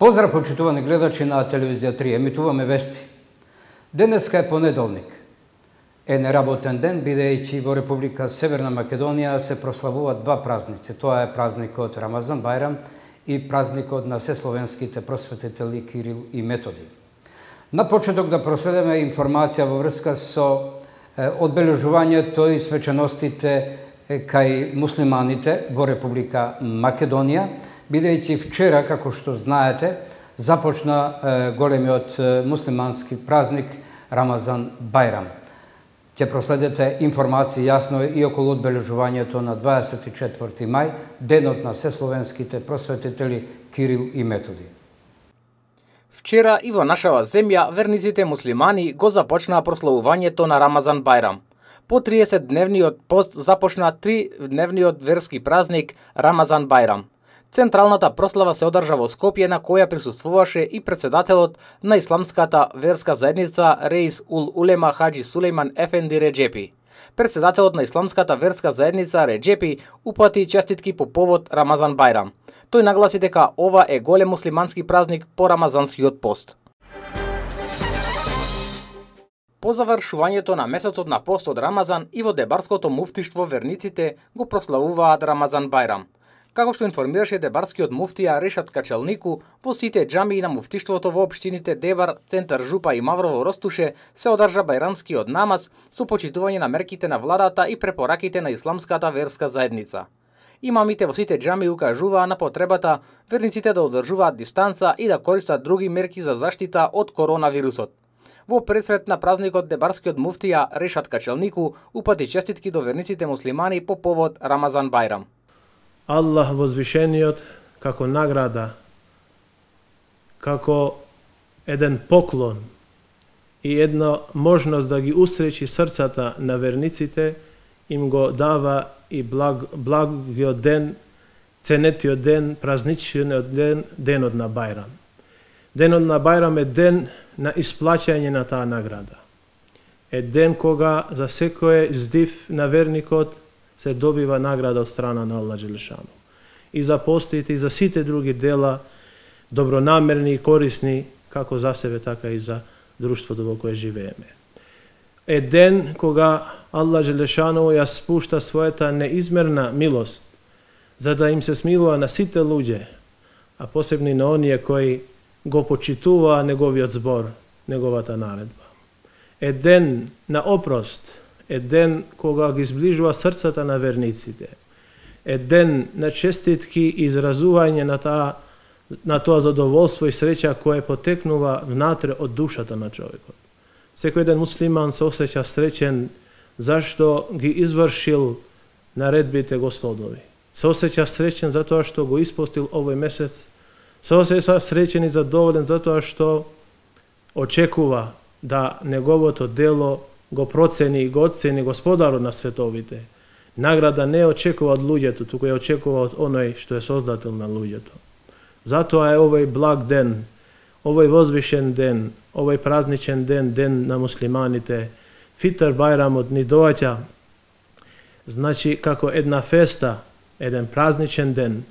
Поздрав, почитувани гледачи на телевизија 3, емитуваме вести. Денеска е понеделник. Е неработен ден, бидејќи во Република Северна Македонија се прославуваат два празници. Тоа е празникот Рамазан Бајрам и празникот на сесловенските просветители Кирил и Методи. На почеток да проследиме информација во врска со одбележувањето и свеченостите кај муслиманите во Република Македонија, бидејќи вчера, како што знаете, започна големиот муслимански празник Рамазан Бајрам. Ќе проследите информации јасно и околу одбележувањето на 24 мај, денот на сесловенските просветители Кирил и Методи. Вчера и во нашава земја верниците муслимани го започнаа прославувањето на Рамазан Бајрам. По 30-дневниот пост започна 3-дневниот верски празник Рамазан Бајрам. Централната прослава се одржа во Скопје, на која присуствуваше и председателот на исламската верска заедница Реис ул Улема Хаџи Сулејман Ефенди Реџепи. Председателот на исламската верска заедница Реџепи упати честитки по повод Рамазан Бајрам. Тој нагласи дека ова е голем муслимански празник по рамазанскиот пост. По завршувањето на месецот на пост од Рамазан и во Дебарското муфтиштво верниците го прославуваат Рамазан Бајрам. Како што информираше дебарскиот муфтија Решат Качалнику, во сите џамии на муфтиштвото во општините Дебар, Центар Жупа и Маврово Ростуше се одржа бајрамскиот намаз со почитување на мерките на владата и препораките на исламската верска заедница. Имамите во сите џамии укажуваа на потребата верниците да одржуваат дистанца и да користат други мерки за заштита од коронавирусот. Во пресрет на празникот дебарскиот муфтија Решат Качалнику упати честитки до верниците муслимани по повод Рамазан Бајрам. Аллах возвишениот како награда, како еден поклон и една можност да ги усречи срцата на верниците, им го дава и благиот ден, ценетиот ден, празничниот ден, денот на Бајрам. Денот на Бајрам е ден на исплаќање на таа награда. Е ден кога за секој здив на верникот се добива награда од страна на Аллах Джелешану. И за постите, и за сите други дела, добронамерни и корисни, како за себе, така и за друштвото во кое живееме. Е ден кога Аллах Джелешану ја спушта својата неизмерна милост, за да им се смилува на сите луѓе, а посебно на оние кои го почитуваа неговиот збор, неговата наредба. Е ден на опрост, е ден кога ги зближува срцата на верниците. Е ден на честитки и изразување на тоа задоволство и среќа кое потекнува внатре од душата на човекот. Секој ден муслиман се осеќа среќен зашто ги извршил наредбите Господови. Се осеќа среќен затоа што го испостил овој месец. Се осеќа среќен и задоволен затоа што очекува да неговото дело го процени и го оцени Господарот на световите. Награда не очекува од луѓето, туку ја очекува од оној што е создател на луѓето. Затоа е овој благ ден, овој возвишен ден, овој празничен ден, ден на муслиманите. Фитр Бајрамот ни доаѓа, значи како една феста, еден празничен ден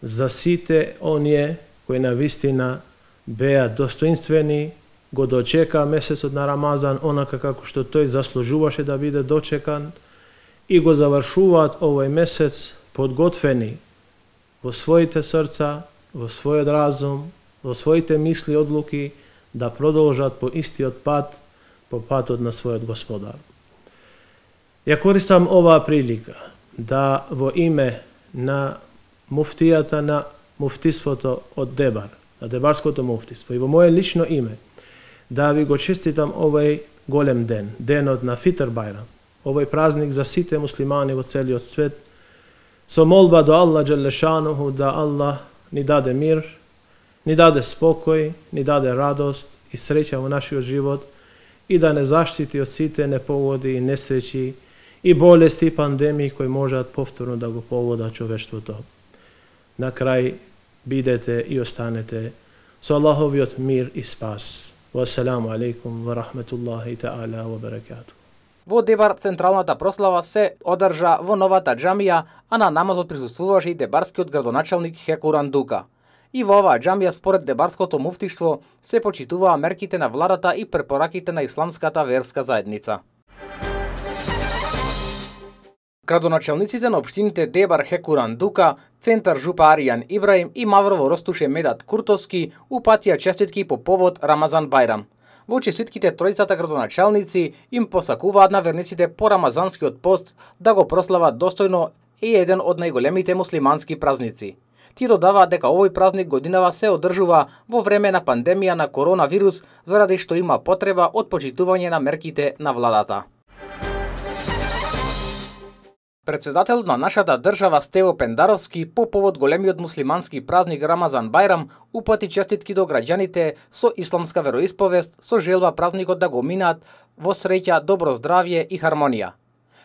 за сите оние кои навистина беа достоинствени, го дочека месецот на Рамазан онака како што тој заслужуваше да биде дочекан и го завршуваат овој месец подготвени во своите срца, во својот разум, во своите мисли и одлуки да продолжат по истиот пат, по патот на својот Господар. Ја користам оваа прилика да во име на муфтијата на муфтиството од Дебар, на Дебарското муфтиство и во моје лично име, да ви го честитам овој голем ден, денот на Фитр Бајрам, овој празник за сите муслимани во целиот свет, со молба до Аллах Джелешануху да Аллах ни даде мир, ни даде спокој, ни даде радост и среќа во нашиот живот и да не заштити од сите непогоди и несреќи и болести и пандемии кои можат повторно да го погодат човештвото. На крај бидете и останете со Аллаховиот мир и спас. Вассаламу алейкум ва рахметуллахи таала ва баракату. Во Дебар централната прослава се одржа во новата џамија, а на намазот присуствуваше и дебарскиот градоначалник Хекуран Дука. И во оваа џамија според Дебарското муфтиштво се почитуваа мерките на владата и препораките на исламската верска заедница. Градоначалниците на општините Дебар Хекуран Дука, Центар Жупа Аријан Ибраим и Маврово Ростуше Медат Куртовски упатија честитки по повод Рамазан Бајрам. Во честитките тројцата градоначалници им посакуваат на верниците по рамазанскиот пост да го прослават достојно и еден од најголемите муслимански празници. Тие додаваат дека овој празник годинава се одржува во време на пандемија на коронавирус, заради што има потреба од почитување на мерките на владата. Председателот на нашата држава Стево Пендаровски по повод големиот муслимански празник Рамазан Бајрам упати честитки до граѓаните со исламска вероисповест со желба празникот да го минат во среќа, добро здравје и хармонија.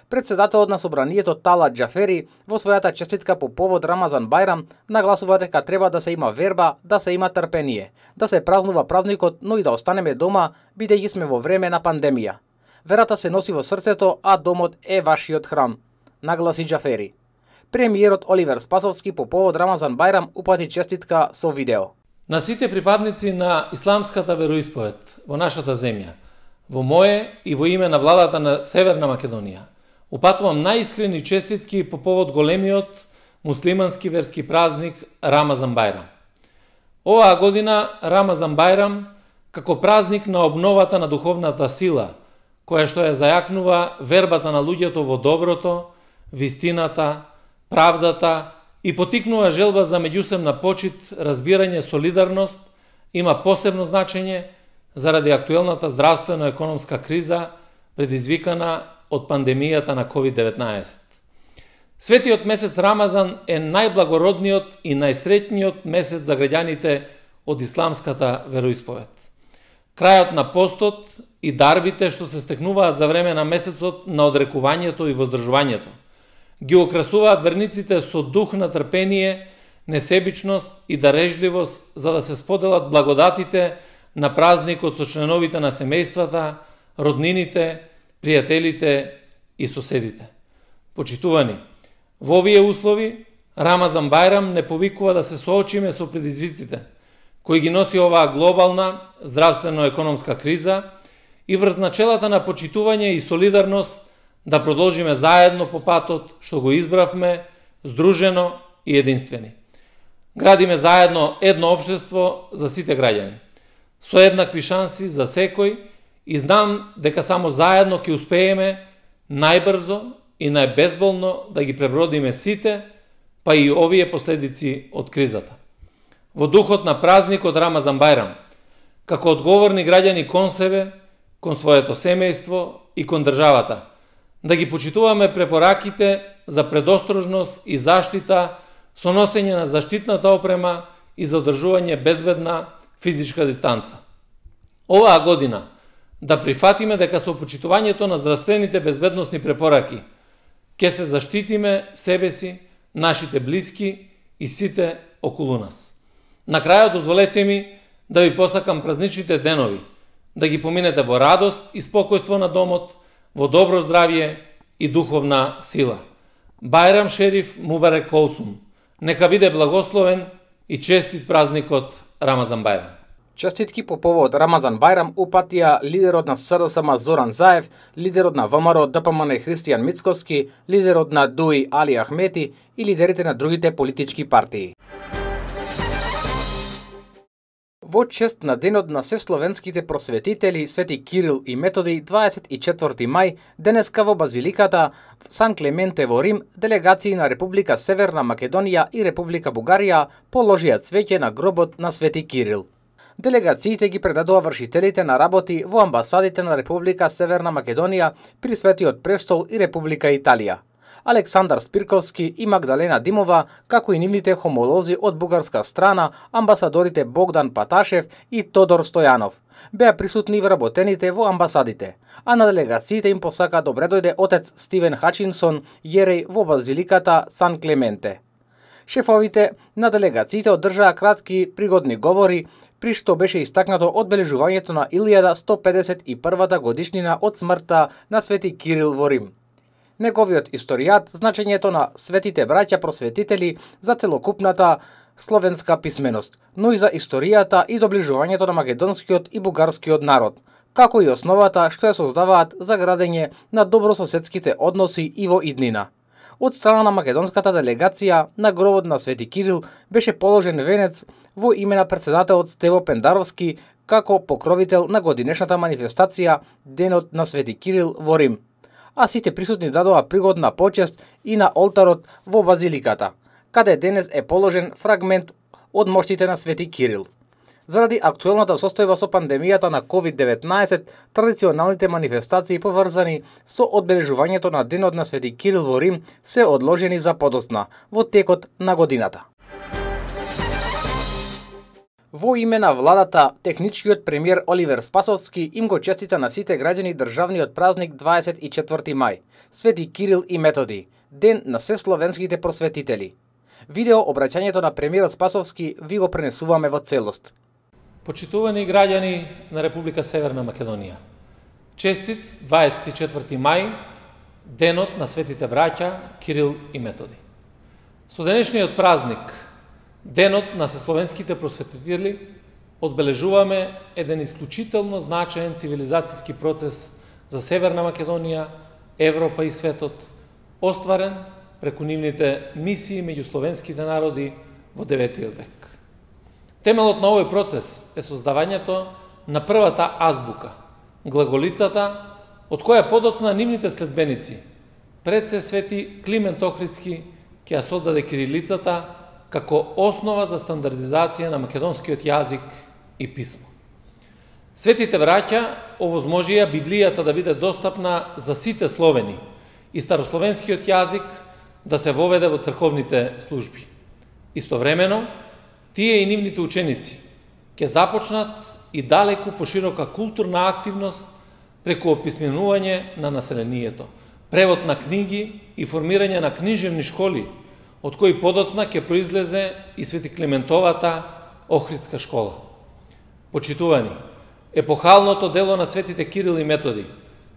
Председателот на собранието Талат Џафери во својата честитка по повод Рамазан Бајрам нагласува дека треба да се има верба, да се има трпение, да се празнува празникот, но и да останеме дома бидејќи сме во време на пандемија. Верата се носи во срцето, а домот е вашиот храм, нагласи Џафери. Премиерот Оливер Спасовски по повод Рамазан Бајрам упати честитка со видео. На сите припадници на исламската вероисповед во нашата земја, во мое и во име на владата на Северна Македонија, упатувам најискрени честитки по повод големиот муслимански верски празник Рамазан Бајрам. Оваа година Рамазан Бајрам, како празник на обновата на духовната сила, која што ја зајакнува вербата на луѓето во доброто, вистината, правдата и потикнува желба за меѓусебна почит, разбирање, солидарност, има посебно значење заради актуелната здравствено-економска криза предизвикана од пандемијата на COVID-19. Светиот месец Рамазан е најблагородниот и најсреќниот месец за граѓаните од исламската вероисповед. Крајот на постот и дарбите што се стекнуваат за време на месецот на одрекувањето и воздржувањето ги украсуваат верниците со дух на трпение, несебичност и дарежливост за да се споделат благодатите на празникот со членовите на семејствата, роднините, пријателите и соседите. Почитувани, во овие услови Рамазан Бајрам не повикува да се соочиме со предизвиците кои ги носи оваа глобална здравствено-економска криза и врз начелата на почитување и солидарност да продолжиме заедно по патот што го избравме, здружено и единствени. Градиме заедно едно општество за сите граѓани, со еднакви шанси за секој и знам дека само заедно ќе успееме најбрзо и најбезболно да ги пребродиме сите, па и овие последици од кризата. Во духот на празникот Рамазан Бајрам, како одговорни граѓани кон себе, кон своето семејство и кон државата, да ги почитуваме препораките за предострожност и заштита со носење на заштитната опрема и за одржување безбедна физичка дистанца. Оваа година да прифатиме дека со почитувањето на здравствените безбедносни препораки ќе се заштитиме себе си, нашите блиски и сите околу нас. На крајот дозволете ми да ви посакам празничните денови, да ги поминете во радост и спокојство на домот, во добро здравје и духовна сила. Бајрам Шериф Мубарек Колсум. Нека биде благословен и честит празникот Рамазан Бајрам. Честитки по повод Рамазан Бајрам упатија лидерот на СДСМ Зоран Заев, лидерот на ВМРО ДПМН Христијан Мицковски, лидерот на ДУИ Али Ахмети и лидерите на другите политички партии. Во чест на денот на сесловенските просветители Свети Кирил и Методи 24 мај, денеска во Базиликата Сан Клементе во Рим, делегации на Република Северна Македонија и Република Бугарија положија цвеќе на гробот на Свети Кирил. Делегациите ги предадоа вршителите на работи во амбасадите на Република Северна Македонија при Светиот престол и Република Италија. Александар Спирковски и Магдалена Димова, како и нивните хомолози од бугарска страна, амбасадорите Богдан Паташев и Тодор Стојанов, беа присутни вработените во амбасадите, а на делегациите им посака добре дојде отец Стивен Хачинсон, јереј во Базиликата Сан Клементе. Шефовите на делегациите одржаа кратки пригодни говори, при што беше истакнато одбележувањето на 1151 годишнина од смртта на Свети Кирил во Рим. Неговиот историјат, значењето на светите браќа просветители за целокупната словенска писменост, но и за историјата и доближувањето на македонскиот и бугарскиот народ, како и основата што ја создаваат за градење на добрососедските односи и во иднина. Од страна на македонската делегација на гробот на Свети Кирил беше положен венец во име на претседателот Стево Пендаровски како покровител на годинешната манифестација Денот на Свети Кирил во Рим. А сите присутни дадоа пригодна почест и на олтарот во базиликата, каде денес е положен фрагмент од моштите на Свети Кирил. Заради актуелната состојба со пандемијата на COVID-19, традиционалните манифестации поврзани со одбележувањето на Денот на Свети Кирил во Рим се одложени за подоцна во текот на годината. Во име на владата, техничкиот премиер Оливер Спасовски им го честита на сите граѓани државниот празник 24 мај, Свети Кирил и Методи, ден на се словенските просветители. Видео обраќањето на премиерот Спасовски ви го пренесуваме во целост. Почитувани граѓани на Република Северна Македонија, честит 24 мај, денот на светите браќа Кирил и Методи. Со денешниот празник, денот на сесловенските просветители, одбележуваме еден исклучително значаен цивилизацијски процес за Северна Македонија, Европа и светот, остварен преку нивните мисии меѓу словенските народи во 9 век. Темелот на овој процес е создавањето на првата азбука, глаголицата, од која подоцна нивните следбеници, пред се свети Климент Охридски, ќе ја создаде кирилицата како основа за стандардизација на македонскиот јазик и писмо. Светите браќа овозможија Библијата да биде достапна за сите словени и старословенскиот јазик да се воведе во црковните служби. Истовремено, тие и нивните ученици ќе започнат и далеку поширока културна активност преку описменување на населението, превод на книги и формирање на книжевни школи, од кои подоцна ќе произлезе и Свети Климентовата Охридска школа. Почитувани, епохалното дело на светите Кирил и Методи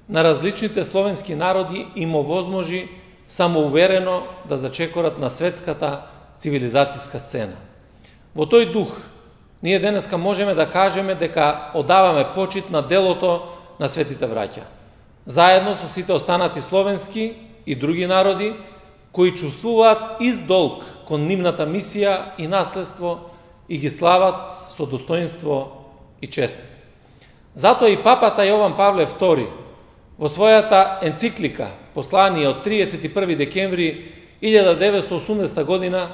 на различните словенски народи им овозможи самоуверено да зачекорат на светската цивилизацијска сцена. Во тој дух, ние денеска можеме да кажеме дека одаваме почит на делото на светите браќа, заедно со сите останати словенски и други народи, кои чувствуваат издолг кон нивната мисија и наследство и ги слават со достоинство и чест. Затоа и папата Јован Павле II во својата енциклика Послание од 31 декември 1980 година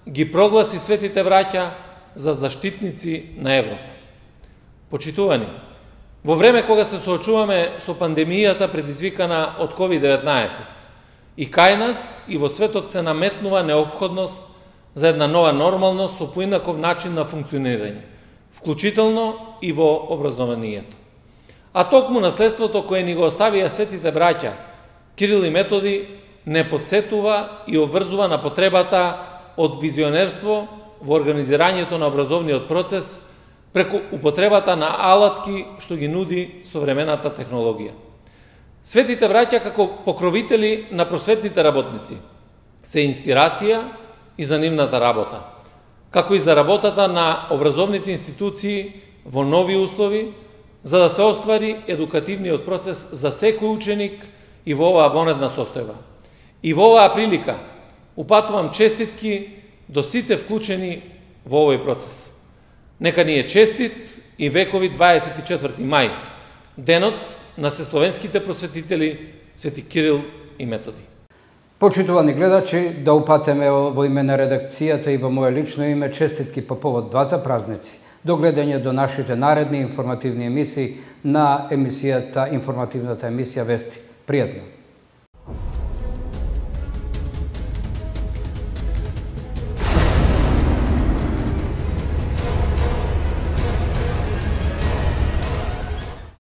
ги прогласи светите браќа за заштитници на Европа. Почитувани, во време кога се соочуваме со пандемијата предизвикана од COVID-19, и кај нас и во светот се наметнува неопходност за една нова нормалност со поинаков начин на функционирање, вклучително и во образованието. А токму наследството кое ни го оставија светите браќа Кирил и Методи не подсетува и обврзува на потребата од визионерство во организирањето на образовниот процес преку употребата на алатки што ги нуди современата технологија. Светите браќа како покровители на просветните работници се инспирација и за нивната работа, како и за работата на образовните институции во нови услови, за да се оствари едукативниот процес за секој ученик и во оваа вонедна состојба. И во оваа прилика упатувам честитки до сите вклучени во овој процес. Нека ни е честит и векови 24 мај, денот на сесловенските просветители Свети Кирил и Методи. Почитувани гледачи, да упатеме во име на редакцијата и во моје лично име честитки по повод двата празници. До гледање до нашите наредни информативни емисии на емисијата, информативната емисија Вести. Пријатно!